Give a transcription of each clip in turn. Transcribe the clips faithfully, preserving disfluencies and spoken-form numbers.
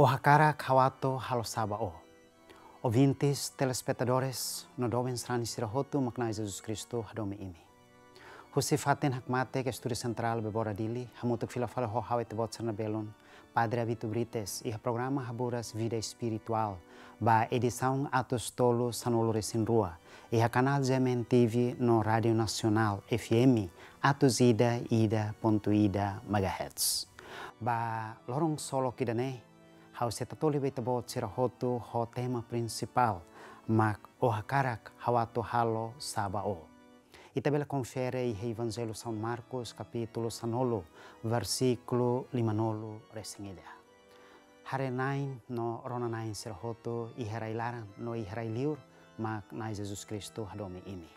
Ó hakarak ha'u atu halo sá ba ó? Ouvintes, telespetadores, no doben sarani sira hotu, mak Na'i Jesus Kristu hadomi imi. Husi fatin hakmatek Estúdiu Sentrál Bebora Dili, hamutuk fila fali ho ha'u ita-boot sira-nia belun, Padre Abito Brites, iha programa Haburas Vida Espirituál, ba edisaun atus tolu sanulu-resin-rua, iha kanál G M N T V no Rádiu Nasionál F M atus ida ida pontu ida megahertz. Ba loron ksolok ida-ne'e, ha'u sei tatoli ba ita-boot sira hotu ho tema prinsipál, mak Ó hakarak ha'u atu halo sá ba ó? Ita bele konfere iha Evanjellu São Marcos, kapítulu sanulu, versíkulu limanulu-resin-ida. Haree-na'in no rona-na'in sira hotu iha rai-laran no iha rai-liur, mak Na'i Jesus Kristu hadomi imi.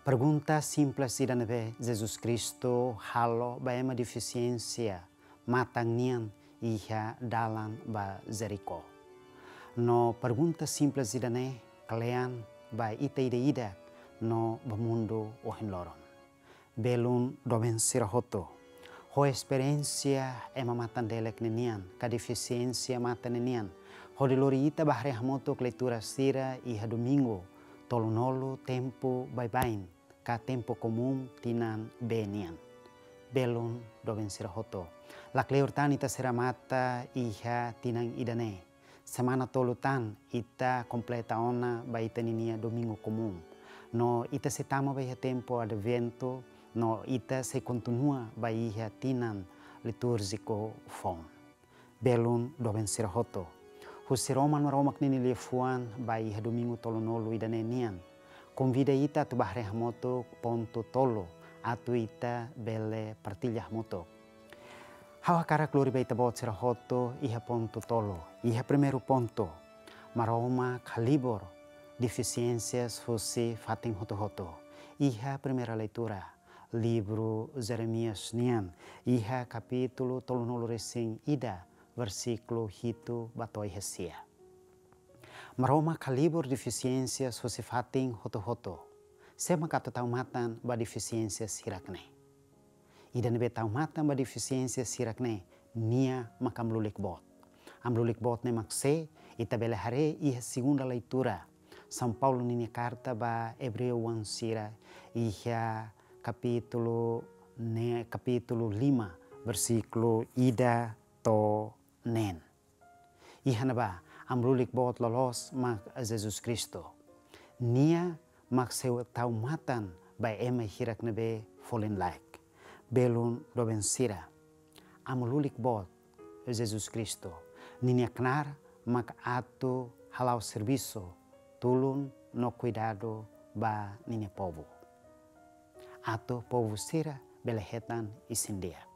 Pergunta simples ida ne'ebé Jesus Kristu halo ba ema defisiénsia matan nian iha dalan ba Jerikó. No pergunta simples ida-ne'e kle'an ba ita ida-idak no ba mundu ohin loron. Belun doben sira hotu, ho esperiénsia ema matan-delek ninian ka defisiénsia matan ninian, hodi lori ita bá haree hamutuk leitura sira iha domingu tolunulu tempu baibain ka tempu komún tinan B nian. Belun doben sira hotu, lakleur tan ita sei remata iha tinan ida-ne'e. Semana tolu tan ita kompleta ona ba ita ninia domingu komún. No ita sei tama ba iha tempu Adventu, no ita sei kontinua ba iha tinan litúrjiku foun. Belun doben sira hotu, husi Roma Maromak ninia liafuan ba iha domingu tolunulu ida-ne'e nian, konvida ita atu bá haree hamutuk pontu tolu atu ita bele partilla hamutuk. Ha'u hakarak lori ba ita-boot sira hotu iha pontu tolu. Iha primeiru pontu, Maromak halibur defisiénsias husi fatin hotu-hotu. Iha primeira leitura, livru Jeremias nian, iha kapítulu tolunulu-resin-ida, versíkulu hitu ba to'o iha sia. Maromak halibur defisiénsias husi fatin hotu-hotu. Sé mak atu tau matan ba defisiénsias hirak-ne'e? Ida ne'ebé tau matan ba defisiénsias hirak-ne'e, nia mak Amu-lulik Boot. Amu-lulik Boot ne'e mak sé, ita bele haree iha segunda leitura São Paulo ninia karta ba Ebreu-oan sira, iha kapítulu ne-, kapítulu lima, versíkulu ida to'o neen. Iha ne'ebá, Amu-lulik Boot loloos mak Jesus Kristu. Nia mak sei tau matan ba ema hirak ne'ebé folin-laek. Belun doben sira, Amu-lulik Boot Jesus Kristu, ninia knaar mak atu hala'o servisu, tulun no kuidadu ba ninia povu, atu povu sira bele hetan isin-di'ak.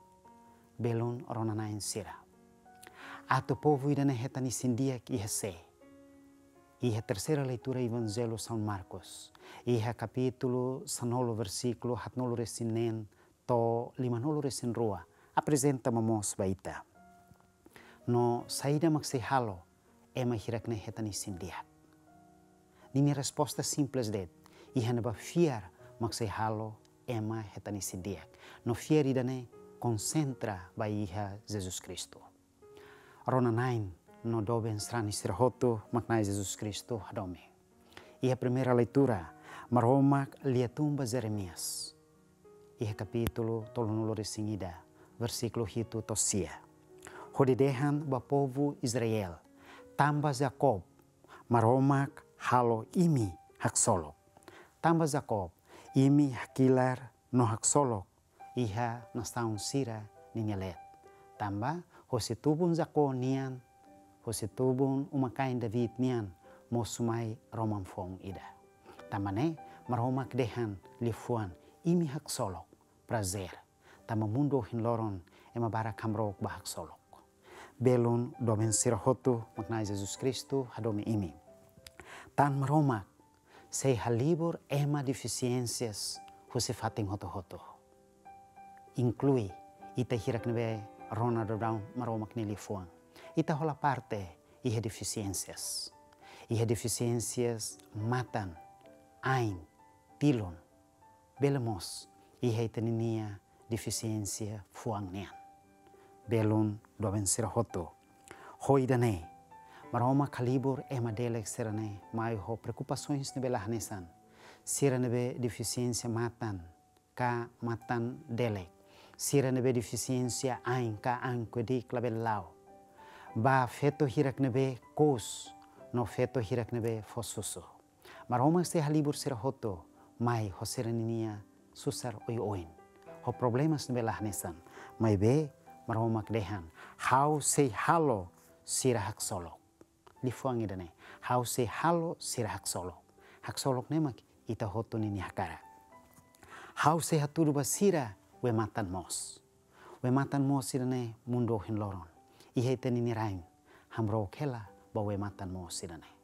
Belun rona-na'in sira, atu povu ida-ne'e hetan isin-di'ak iha sé? Iha terseira leitura Evanjellu São Marcos, iha kapítulu sanulu, versíkulu haatnulu-resin-neen to'o limanulu-resin-rua, aprezenta momoos ba ita. No saida mak sei halo ema hirak-ne'e hetan isin-di'ak? Ninia resposta simples de'it, iha ne'ebá fiar mak sei halo ema hetan isin-di'ak. No fiar ida-ne'e konsentra ba iha Jesus Kristu. Rona-na'in no doben sarani sira hotu, mak Na'i Jesus Kristu hadomi. Iha primeira leitura, Maromak liatun ba Jeremias, iha kapítulu tolunulu-resin-ida, versíkulu hitu to'o sia, hodi dehan ba povu Israel: Tanba Jakob, Maromak halo imi haksolok. Tanba Jakob, imi hakilar no haksolok iha nasaun sira ninia leet. Tanba husi tubun Jakob nian, husi tubun uma-kain David nian, mosu mai roman-foun ida. Tanba ne'e, Maromak dehan liafuan: imi haksolok, prazer. Tanba mundu ohin loron ema barak hamrook ba haksolok. Belun doben sira hotu, mak Na'i Jesus Kristu hadomi imi. Tan Maromak sei halibur ema defisiénsias husi fatin hotu-hotu. Inklui ita hirak ne'ebé rona daudaun Maromak nia liafuan. Ita hola parte iha defisiénsias. Iha defisiénsias matan, ain, tilun. Bele mós iha ita ninia defisiénsia fuan nian. Belun doben sira hotu, Ho ida-ne'e, Maromak halibur ema delek sira-ne'e mai ho preokupasoens ne'ebé la hanesan. Sira ne'ebé defisiénsia matan ka matan delek. Sira ne'ebé defisiénsia ain ka ain kuedik labele la'o. Ba feto hirak ne'ebé kous no feto hirak ne'ebé fó susu. Maromak sei halibur sira hotu mai ho sira-ninia susar oioin, ho problemas ne'ebé la hanesan. Maibé Maromak dehan: Ha'u sei halo sira haksolok. Liafuan ida-ne'e: Ha'u sei halo sira haksolok. Haksolok ne'e mak ita hotu ninia hakarak. Ha'u sei hatudu ba sira wee matan moos. Wee matan moos sira-ne'e mundu ohin loron. Iha ita-nia rain, hamrook hela ba wee matan moos sira-ne'e.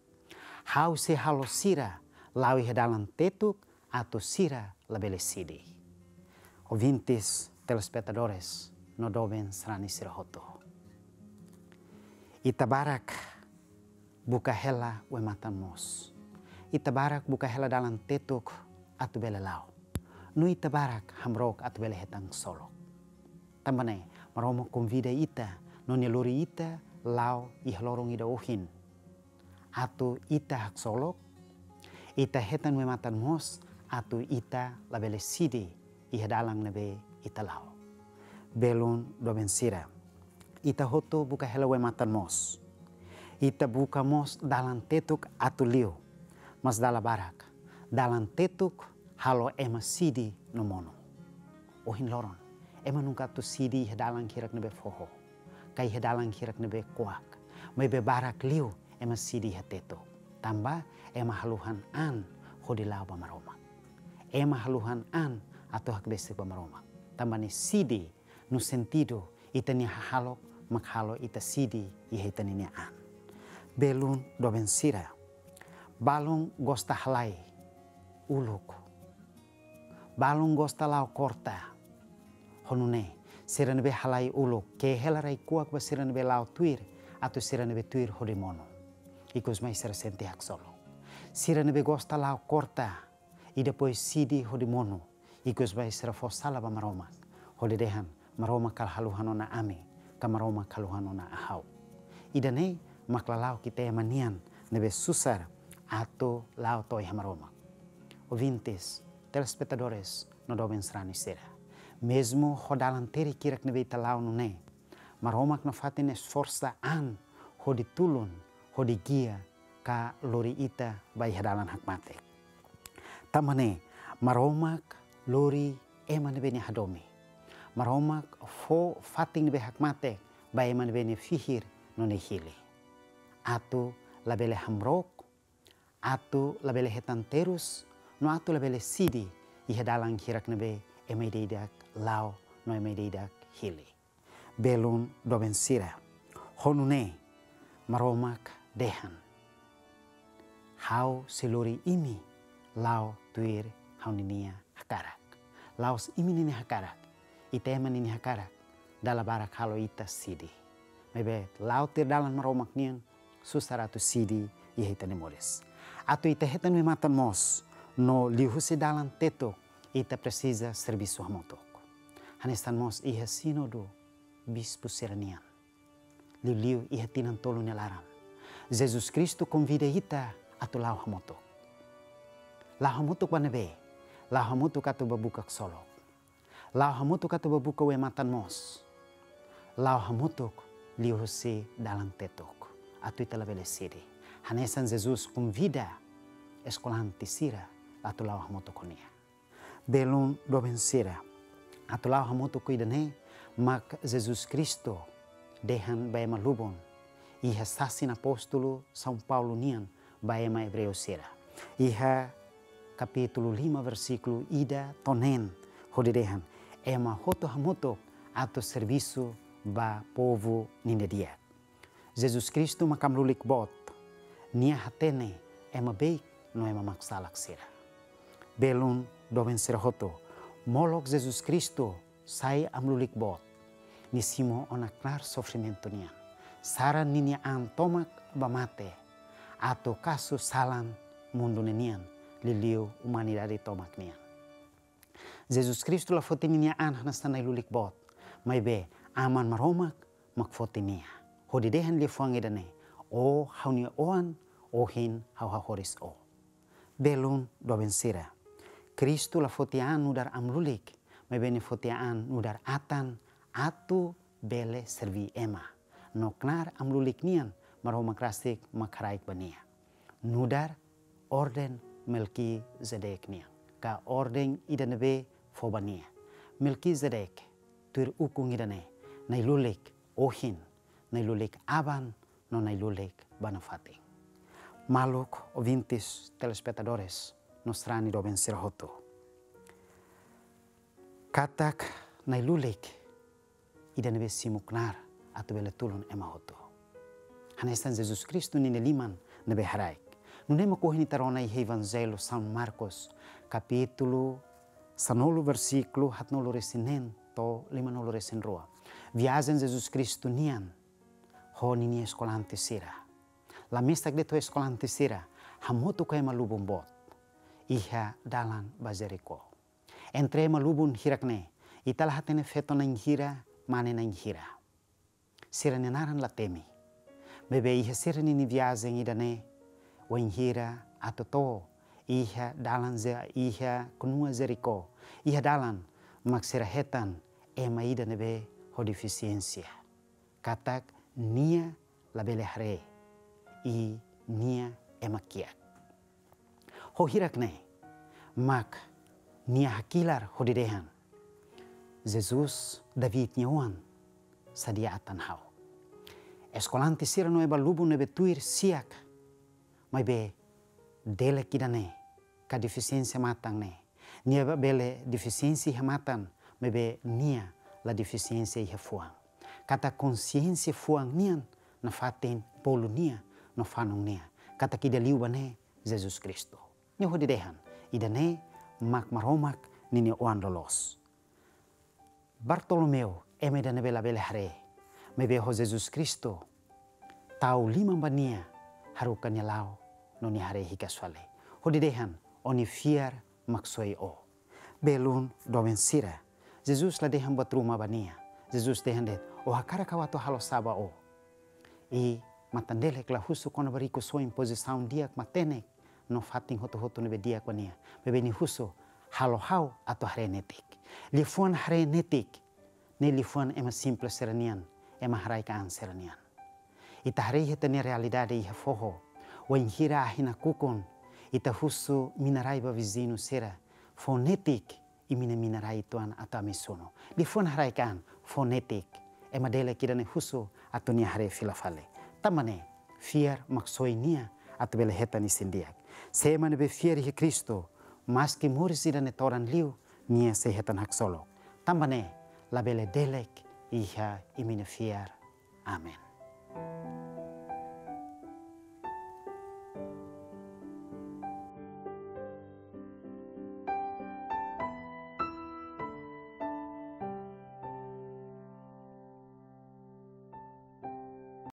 Ha'u sei halo sira la'o iha dalan tetuk atu sira labele sidi. Ouvintes, telespetadores, no doben sarani sira hotu. Ita barak buka hela wee matan moos. Ita barak buka hela dalan tetuk atu bele la'o. No ita barak hamrook atu bele hetan haksolok. Tanba ne'e, Maromak konvida ita, no Nia lori ita la'o iha loron ida ohin. Atu ita haksolok, ita hetan wee matan moos, atu ita labele sidi iha dalan ne'ebé ita la'o. Belun doben sira, ita hotu buka hela wee matan moos. Ita buka mós dalan tetuk atu liu, mas dala barak, dalan tetuk halo ema sidi no monu. Ohin loron, ema nunka atu sidi iha dalan hirak ne'ebé foho, ka iha dalan hirak ne'ebé kuak. Maibé barak liu ema sidi iha tetuk. Tanba ema haluhan an hodi la'o ba Maromak. Ema haluhan an atu hakbesik ba Maromak. Tanba ne'e sidi no sentidu ita-nia hahalok mak halo ita sidi iha ita-ninia an. Belun doben sira, balun gosta halai uluk. Balun gosta la'o korta. Ho nune'e, sira ne'ebé halai uluk ke'e hela rai-kuak ba sira ne'ebé la'o tuir, atu sira ne'ebé tuir hodi monu. Ikus mai sira sente haksolok. Sira ne'ebé gosta la'o korta, i depois sidi hodi monu, ikus mai sira fó sala ba Maromak, hodi dehan: Maromak kala haluhan ona ami, ka Maromak haluhan ona ha'u. Ida-ne'e mak lala'ok ita ema nian ne'ebé susar atu la'o to'o iha Maromak. Ouvintes, telespetadores, no doben sarani sira. Mezmu ho dalan terik hirak ne'ebé ita la'o nune'e, Maromak nafatin esforsa an hodi tulun, hodi gia, ka lori ita ba iha dalan hakmatek. Tanba ne'e, Maromak lori ema ne'ebé Nia hadomi. Maromak fó fatin ne'ebé hakmatek ba ema ne'ebé Nia fihir no Nia hili. Atu labele hamrook, atu labele hetan terus, no atu labele sidi iha dalan hirak ne'ebé ema ida-idak la'o no ema ida-idak hili. Belun doben sira, ho nune'e Maromak dehan: Ha'u sei lori imi la'o tuir Ha'u-ninia hakarak. La'ós imi ninia hakarak, ita ema ninia hakarak, dala barak halo ita sidi. Maibé la'o tuir dalan Maromak nian, susar atu sidi iha ita-nia moris. Atu ita hetan wee matan moos, no liuhusi dalan tetuk, ita presiza servisu hamutuk. Hanesan mós iha sínodu bispu sira-nian, liuliu iha tinan tolu nia laran, Jesus Kristu konvida ita atu la'o hamutuk. La'o hamutuk ba ne'ebé? La'o hamutuk atu ba buka haksolok. La'o hamutuk atu ba buka wee matan moos. La'o hamutuk liuhusi dalan tetuk, atu ita labele sidi. Hanesan Jesus konvida eskolante sira atu la'o hamutuk ho Nia. Belun doben sira, atu la'o hamutuk ida-ne'e mak Jesus Kristu dehan ba ema lubun, iha sasin apóstolu São Paulo nian ba ema Ebreu sira, iha kapítulu lima, versíkulu ida to'o neen, hodi dehan: Ema hotu hamutuk atu servisu ba povu ninia di'ak. Jesus Kristu mak amlulik boot, Nia hatene ema beik no ema maksalak sira. Belun doben sira hotu, molok Jesus Kristu sai amlulik boot, Nia simu ona knaar sofrimentu nian, saran ninia an tomak ba mate, atu kasu salan mundu ne'e nian, liuliu umanidade tomak nian. Jesus Kristu la foti ninia an hanesan ai-lulik boot, maibé Aman Maromak mak foti Nia. Hodi dehan liafuan ida-ne'e: Ó ha'u-nia oan, ohin ha'u hahoris ó. Belun doben sira, Kristu la foti an nu'udar amu-lulik, maibé nia foti an nu'udar atan atu bele serví ema. No knaar amu-lulik nian Maromak rasik mak haraik ba nia. Nu'udar orden Melkizedek nian, ka orden ida ne'ebé fó ba nia. Melkizedek tuir ukun ida-ne'e, nai-lulik ohin, nai-lulik aban, no nai-lulik ba nafatin. Maluk, ouvintes, telespetadores, no sarani doben sira hotu. Katak nai-lulik ida ne'ebé simu knaar atu bele tulun ema hotu. Hanesan Jesus Kristu ninia liman ne'ebé haraik. Nune'e mak ohin ita rona iha Evanjellu São Marcos, kapítulu sanulu, versíkulu haatnulu-resin-neen to'o limanulu-resin-rua. Viajen Jesus Kristu nian ho ninia eskolante sira. La mesak de'it ho eskolante sira, hamutuk ho ema lubun boot iha dalan ba Jerikó. Entre ema lubun hirak-ne'e, ita la hatene feto na'in hira, mane na'in hira. Sira-nia naran la temi. Maibé iha sira-nia viajen ida-ne'e, wainhira atu to'o iha dalan Ze-, iha knua Jerikó, iha dalan mak sira hetan ema ida ne'ebé ho defisiénsia. Katak nia labele haree, i nia ema kiak. Ho hirak-ne'e mak nia hakilar hodi dehan: Jesus, David nia oan, sadia atan ha'u. Eskolante sira no ema lubun ne'ebé tuir siak, maibé delek ida-ne'e, ka defisiénsia matan ne'e, nia bele defisiénsia iha matan, maibé nia la defisiénsia iha fuan. Katak konsiénsia fuan nian nafatin bolu nia no fanun nia, katak ida liu ba ne'e Jesus Kristu. Nia hodi dehan: Ida-ne'e mak Maromak ninia oan loloos. Bartolomeu, ema ida ne'ebé labele haree, maibé ho Jesus Kristu tau liman ba nia, haruka nia la'o, no nia haree hikas fali. Hodi dehan: Ó-nia fiar maksoin ó. Belun doben sira, Jesus la dehan buat ruma ba nia. Jesus dehan de'it: Ó hakarak ha'u atu halo sá ba ó? I matan-delek la husu kona-ba rikusoin, pozisaun di'ak, matenek, no fatin hotu-hotu ne'ebé di'ak ba nia. Maibé nia husu: Halo ha'u atu haree netik. Liafuan haree netik ne'e liafuan ema simples sira-nian, ema haraik an sira-nian. Ita haree iha ita-nia realidade iha foho, wainhira ahi nakukun, ita husu mina-rai ba viziñu sira: Fó netik imi-nia mina-rai uitoan atu ami sunu. Liafuan haraik an, fó netik. Ema delek ida-ne'e husu atu nia haree fila fali. Tanba ne'e, fiar maksoin nia atu bele hetan isin-di'ak. Se ema ne'ebé fiar iha Kristu, maski moris ida-ne'e todan liu, nia sei hetan haksolok. Tanba ne'e, labele delek iha imi-nia fiar. Amen.